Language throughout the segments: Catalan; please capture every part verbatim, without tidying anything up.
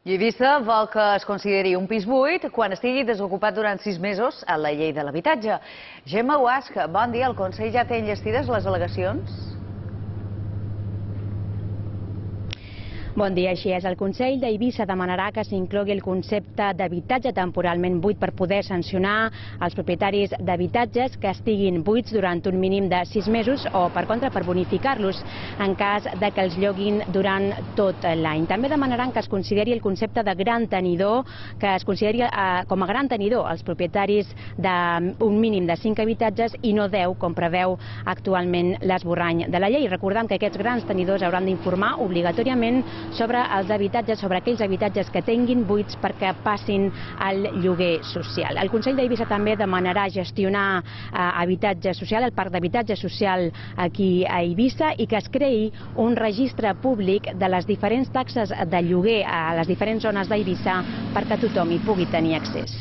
I Eivissa vol que es consideri un pis buit quan estigui desocupat durant sis mesos a la llei de l'habitatge. Gemma Guasch, bon dia. El Consell ja té enllestides les al·legacions? Bon dia, així és. El Consell d'Eivissa demanarà que s'inclogui el concepte d'habitatge temporalment buit per poder sancionar els propietaris d'habitatges que estiguin buits durant un mínim de sis mesos o, per contra, per bonificar-los en cas de que els lloguin durant tot l'any. També demanaran que es consideri el concepte de gran tenidor, que es consideri eh, com a gran tenidor els propietaris d'un mínim de cinc habitatges i no deu, com preveu actualment l'esborrany de la llei. Recordem que aquests grans tenidors hauran d'informar obligatòriament sobre els habitatges, sobre aquells habitatges que tinguin buits perquè passin al lloguer social. El Consell d'Eivissa també demanarà gestionar eh, habitatge social, el parc d'habitatge social aquí a Eivissa, i que es creï un registre públic de les diferents taxes de lloguer a les diferents zones d'Eivissa perquè tothom hi pugui tenir accés.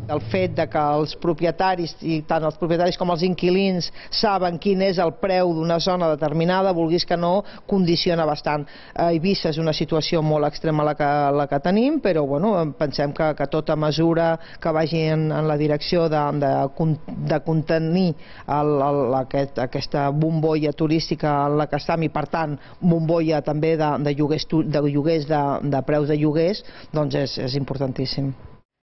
El fet de que els propietaris, i tant els propietaris com els inquilins, saben quin és el preu d'una zona determinada, vulguis que no, condiciona bastant. A Eivissa és una situació molt extrema la que, la que tenim, però bueno, pensem que, que tota mesura que vagi en, en la direcció de, de, de contenir el, el, aquest, aquesta bombolla turística en la que estem, i per tant bombolla també de, de lloguers, de, lloguers de, de preus de lloguers, doncs és, és importantíssim.